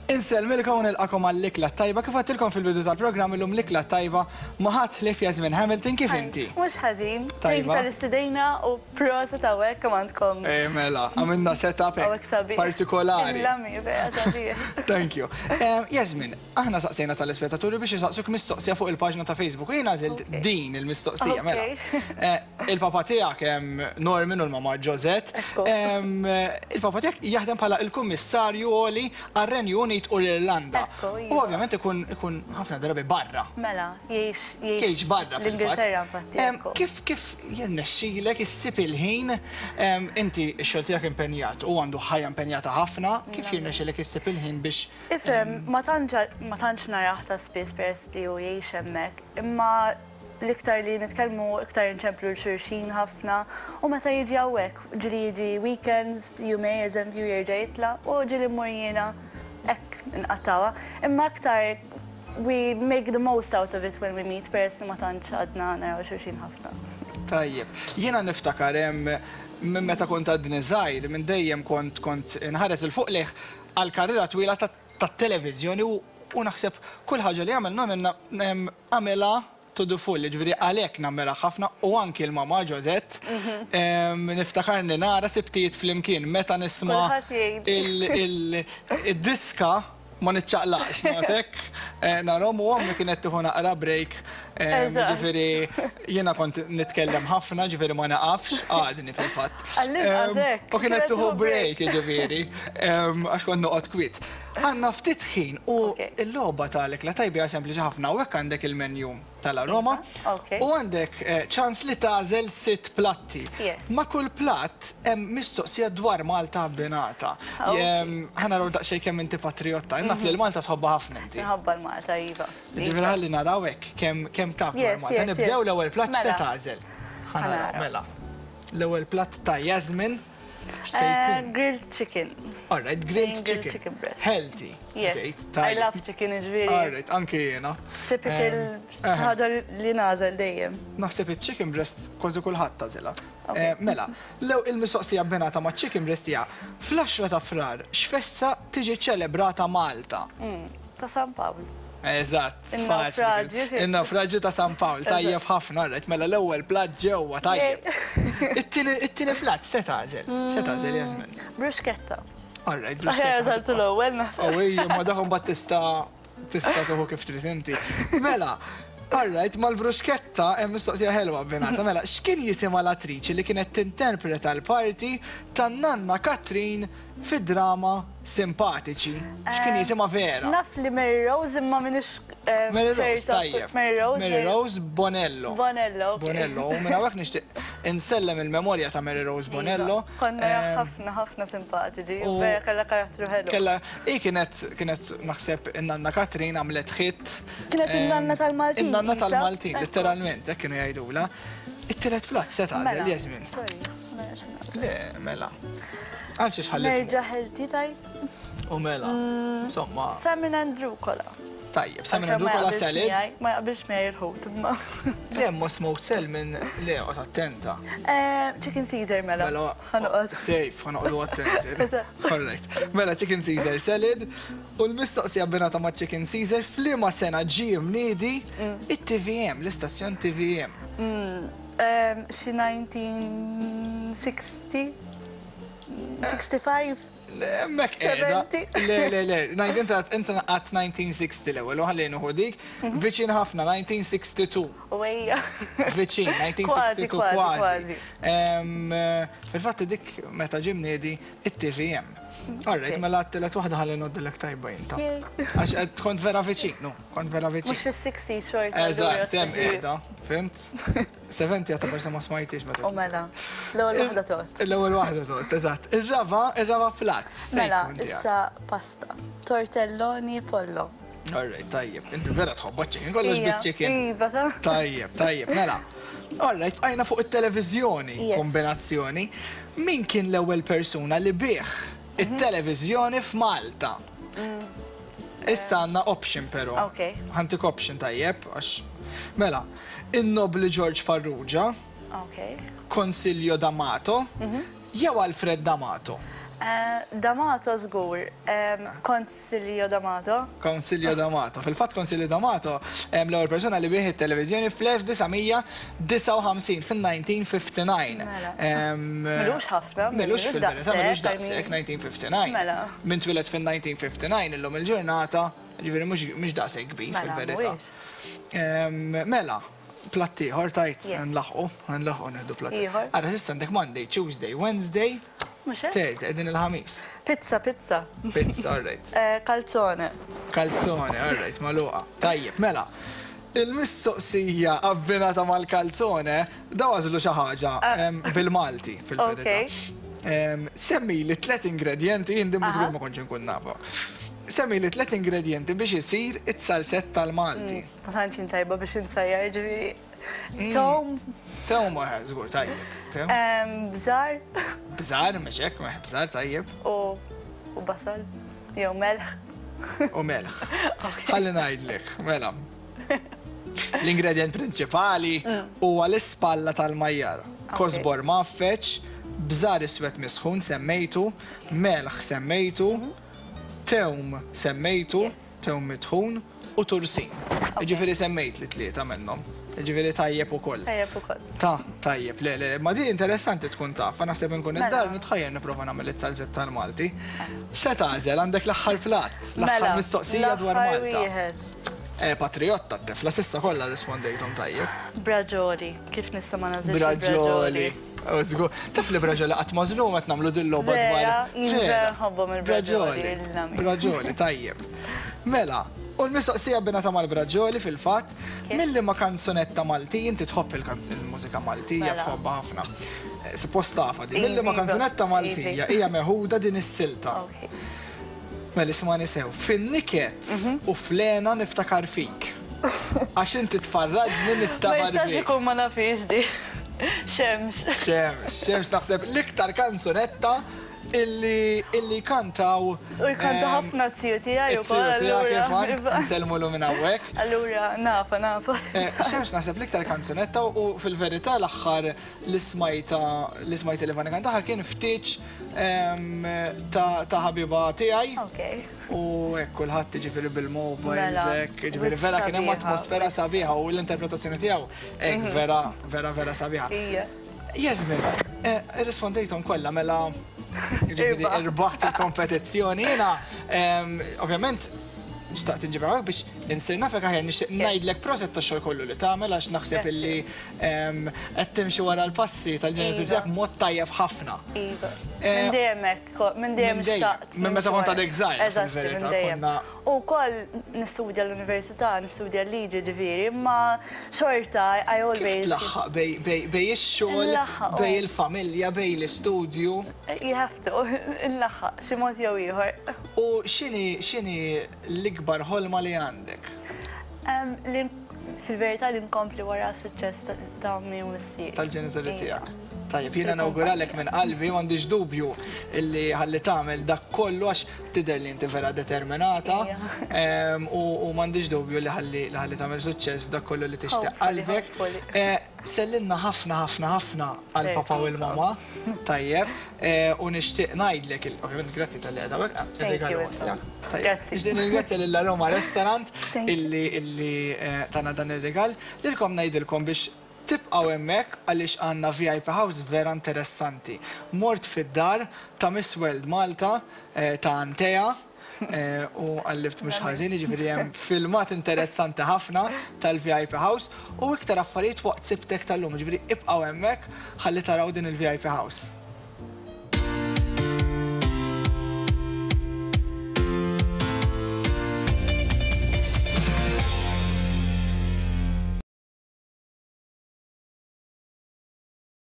Insellmilkom u nilqakom għall-ikla tajba kif għedtilkom fil-bidu tal-programm illum l-ikla tajba ma' ħadd ħlief Yasmin Hamilton kif inti? Mhux ħażin. Thank you tal-istedina u proset hawnhekk kemm għandkom. Eh mela, għamilna setup hekk partikolari. Il-lami vera sabiħ. Thank you. Eh, Yasmin, aħna saqsejna tal-ispettaturi biex isaqsuk mistoqsija fuq il-paġna ta' Facebook u jiena għażilt din il-mistoqsija mela. Eh, Il-papa tiegħek Norman u l-mama Josette. Il-papa tiegħek jaħdem bħala il-Kummissarju Għoli għar-Renju Unit u l-Irlanda. U ovvjament ikun ħafna drabi barra. Mela, jgħix jgħix barra l-Ingilterra infatti. Kif kif jirnexxilek issib il-ħin inti x-xogħol tiegħek impenjat u għandu ħajja impenjata ħafna, kif jirnexxilek issib il-ħin biex Ifhem, ma tantx narah ta' spiss peress li hu jgħix hemmhekk, imma l-iktar li nitkellmu iktar inċemplu 'l xulxin ħafna u meta jiġi hawnhekk, ġieli jiġi weekends, jumej eżempju jerġa' jitla' u ġieli mmur jiena hekk inqattgħuha. Imma iktar we make the most out of it when we meet peress li ma tantx għadna naraw xulxin ħafna. Tajjeb. Jiena niftakar minn meta kont għadni żgħir, minn dejjem kont kont inħares 'il fuq lejh għall-karriera twila tat-televiżjoni u naħseb kull ħaġa li għamel Norman għamilha to the full, jiġifieri għalhekk nammirah ħafna u anki l-mamà Josette. Niftakarni nara sibtijiet flimkien meta nisma' id-diska ma niċċaqlaqx, noqgħod hekk narahom u ommi kienet tieħu naqra break, jiġifieri jiena kont nitkellem ħafna, jiġifieri ma naqafx, għadni fil-fatt. U kienet tieħu break, jiġifieri, għax kont noqgħod kwiet. Għandna ftit ħin u l-logħba tal-ikla tajba hija sempliċi ħafna. Hawnhekk għandek il-menu tal-Aroma u għandek ċans li tagħżel sitt platti. Ma' kull platt hemm mistoqsija dwar Malta abbinata. Ħa naraw daqsxejn kemm inti patrijotta. Naf li l-Malta tħobbha ħafna inti. Nħobbha l-Malta, iva. Jiġifieri ħalli naraw hekk kemm taf dwar Malta. Nibdew l-ewwel platt x'se tagħżel? Ħa naraw, mela. L-ewwel platt ta' Yasmin. X'se jkun? Grilled chicken. All right, grilled chicken. Grilled chicken breast. Healthy. Yes. I love chicken, ġifieri. All right, anki jiena. Typical xi ħaġa li nagħżel dejjem. Naħseb iċ-chicken breast kważi kulħadd tagħżilha. Mela, il-mistoqsija abbinata maċ-chicken breast hija, fl-10 ta' Frar x'festa tiġi ċċelebrata Malta? Ta' San Pawl. Eżatt. In-nawfraġju. In-nawfraġju ta' San Pawl, tajjeb ħafna, rajt, mela l-ewwel platt ġewwa, tajjeb. It-tieni platt se tagħżel? Se tagħżel Jasmin? Bruschetta. All right, bruschetta. Aħjar għażeltu l-ewwel naħseb. Oh, ejja, ma dak imbagħad tista' tista' tieħu kif trid inti. Mela, all right, mal-bruschetta hemm mistoqsija ħelwa abbinata. Mela, x'kien jisimha l-attriċi li kienet tinterpreta l-parti tan-nanna Katrin Fid-drama Simpatiċi, x'kien jisimha vera? Naf li Mary Rose imma m'iniex Mary Rose, tajjeb. Mary Rose. Mary Rose Bonello. Bonello, ok. Bonello, u minn hawnhekk nixtieq insellem il-memorja ta' Mary Rose Bonello. Konna ħafna ħafna simpatiċi, vera kellha karattru ħelu. Kellha, hi kienet kienet naħseb in-nanna Katrin għamlet hit. Kienet in-nanna tal-Maltin. In-nanna tal-Maltin, litteralment, hekk kienu jgħidulha. It-tielet platt se tagħżel, Jasmine? Sorry. Le, mela. Għal xiex ħalli. Nerġa' healthy tajt. U mela. Insomma. Salmon and rucola. Tajjeb, salmon and rucola salad. Ma jaqbilx miegħi il-ħut imma. Le, ma smoked salmon, le, qgħod attenta. Chicken Caesar mela. Mela. Ħanoqgħod. Safe, ħanoqgħodu attenti. Alright. Mela chicken Caesar salad. U l-mistoqsija abbinata ma' chicken Caesar f'liema sena ġie mniedi it-TVM, l-istazzjon TVM? Xi 1960? 65? Le, hemmhekk qiegħda. Le, le, le, inta għadt 1960 l-ewwel, u ħalli nieħu dik. Viċin ħafna, 1962. U ejja. Viċin, 1962 kważi. Fil-fatt dik meta ġie mniedi it-TVM. All right, mela t-tielet waħda ħalli ngħoddilek tajba jien ta. Għax kont vera viċin, no, kont vera viċin. Mhux fis-60s xorta. Eżatt, hemm qiegħda, fimt? 70 għata forse ma smajtix meta. U mela, l-ewwel waħda tot. L-ewwel waħda tot, eżatt. Ir-raba, ir-raba flat. Mela, issa pasta. Tortelloni pollo. All right, tajjeb. Inti vera tħobba chicken, kollox bit-chicken. Iva, ta. Tajjeb, tajjeb, mela. All right, bqajna fuq it-televiżjoni, kombinazzjoni. Min kien l-ewwel persuna li biegħ it-televiżjoni f'Malta? Issa għandna option però. Ok. Ħantik option tajjeb, għax. Mela, in-Nobbli George Farrugia. Ok. Consiglio D'Amato. Jew Alfred D'Amato. D'Amato żgur. Consiglio D'Amato. Consiglio D'Amato. Fil-fatt Consiglio D'Amato l-ewwel persuna li biegħ it-televiżjoni fl-1959, fin-1959. Mela. M'ilux ħafna. M'ilux fil-verità, m'ilux daqshekk, 1959. Mela. Min twieled fin-1959 illum il-ġurnata, jiġifieri mhux daqshekk kbir fil-verità. Mela, mhuwiex. Mela. Platt ieħor tajt nlaħħqu, nlaħħqu nieħdu platt ieħor. Ara s'issa għandek Monday, Tuesday, Wednesday, Thursday, qegħdin il-Ħamis. Pizza, pizza. Pizza, all right. Calzone. Calzone, all right, magħluqa. Tajjeb, mela. Il-mistoqsija abbinata mal-calzone, daw għażlu xi ħaġa bil-Malti fil-verità. Semmili tliet ingredjenti, jien din żgur ma kontx inkun nafha. Semmili tliet ingredjenti biex isir it-salsett tal-Malti. Ma tantx jien tajba biex insajjar, ġifieri. Tewm. Tewm eh, żgur tajjeb. Tewm. Bżar. Bżar, mhux hekk, meħ bżar tajjeb. U basal. Jew melħ. U melħ. Ħalli ngħidlek, mela. L-ingredjent prinċipali mm. huwa l-ispalla tal-majjar. Kosbor maffeċ, bżar iswed misħun semmejtu, melħ semmejtu, mhm. tewm semmejtu, tewm mitħun, u tursin. Jiġifieri semmejtli tlieta minnhom. Jiġifieri tajjeb ukoll. Tajjeb ukoll. Ta, tajjeb, le, le, ma din interessanti tkun taf, naħseb inkun mela. id-dar nitħajjar nipprova nagħmel it-salzett tal-Malti. Se tagħżel għandek l-aħħar flat, l-aħħar mela, mistoqsija dwar Malta. Eh, patriotta t-tifla, sissa kollha rispondejthom tajjeb. Braġoli, kif nista' ma nażilx Braġoli. Żgur. Taf li braġoli qatt mażlum qed nagħmlu din logħba dwar. Vera, nħobbhom il-braġoli. Braġoli, tajjeb. Mela, u l-mistoqsija abbinata mal-braġoli fil-fatt, minn liema kanzunetta Maltija, inti tħobb il-mużika Maltija, Mela. tħobbha ħafna. Eh, Suppost tafha din. Minn liema Iva, kanzunetta Maltija iva. hija meħuda din is-silta. Ok. Mela ismani sew, fin-niket Mhm. u fl-hena niftakar fik. Għax inti tfarraġni Ma nistabar jistax bik. ikun ma nafhiex di. Xemx. Xemx, xemx naħseb l-iktar kanzunetta Illi illi jkantaw. U jkanta ħafna z-ziju tiegħi wkoll. Iz-ziju tiegħek Ivan, nsellmulu minn hawnhekk. Allura nafa nafa. Xemx naħseb l-iktar kanzunetta u fil-verità l-aħħar li smajta li smajt il Ivan ikantaha kien f'tieġ ta' ħabiba tiegħi. U hekk kulħadd jiġifieri bil-mobiles hekk, jiġifieri vera kien hemm atmosfera sabiħa u l-interpretazzjoni tiegħu hekk vera vera vera sabiħa. Jasmine, eh, irrispondejthom kollha mela jiġifieri irbaħt il-kompetizzjoni. Jiena ovvjament xtaqt inġib hawnhekk biex insir nafek aħjar nixtieq ngħidlek proset tax-xogħol kollu li tagħmel għax naħseb illi qed timxi wara l-passi tal-ġenituri tiegħek mod tajjeb ħafna. Iva. Eh, minn dejjem hekk, minn dejjem xtaqt. Minn meta kont għadek żgħir. Eżatt, minn dejjem. U wkoll nistudja l-università, nistudja l-liġi ġifieri, imma xorta I always. Kif tlaħħaq bejn ix-xogħol, bejn il-familja, bejn l-istudju? You have to, inlaħħaq xi mod jew ieħor. U x'inhi x'inhi l-ikbar ħolma li għandek? Li fil-verità li nkompli wara s-suċċess ta' ommi u missieri. Tal-ġenituri tiegħek. Tajjeb, jiena nawguralek minn qalbi, m'għandix dubju illi ħalli tagħmel dak kollu għax Tidher li inti vera determinata u m'għandix dubju li ħalli li ħalli tagħmel suċċess f'dak kollu li tixtieq qalbek. Sellimna ħafna ħafna ħafna għal papa u l-mama, tajjeb, u nixtieq ngħidlek, ovvjament grazzi talli qiegħda hawnhekk, ir-rigal huwa tiegħek. Grazzi. Nixtieq nirringrazzja lil Aroma Restaurant illi illi tana dan ir-rigal. Lilkom ngħidilkom biex Tibqgħu hemmhekk għaliex għandna VIP House vera interessanti. Mort fid-dar ta' Miss World Malta ta' Antea u qallibt mhux ħażin, jiġifieri hemm filmat interessanti ħafna tal-VIP House u iktar affarijiet waqt Sibtek tal-lum, jiġifieri ibqgħu hemmhekk ħalli taraw din il-VIP House.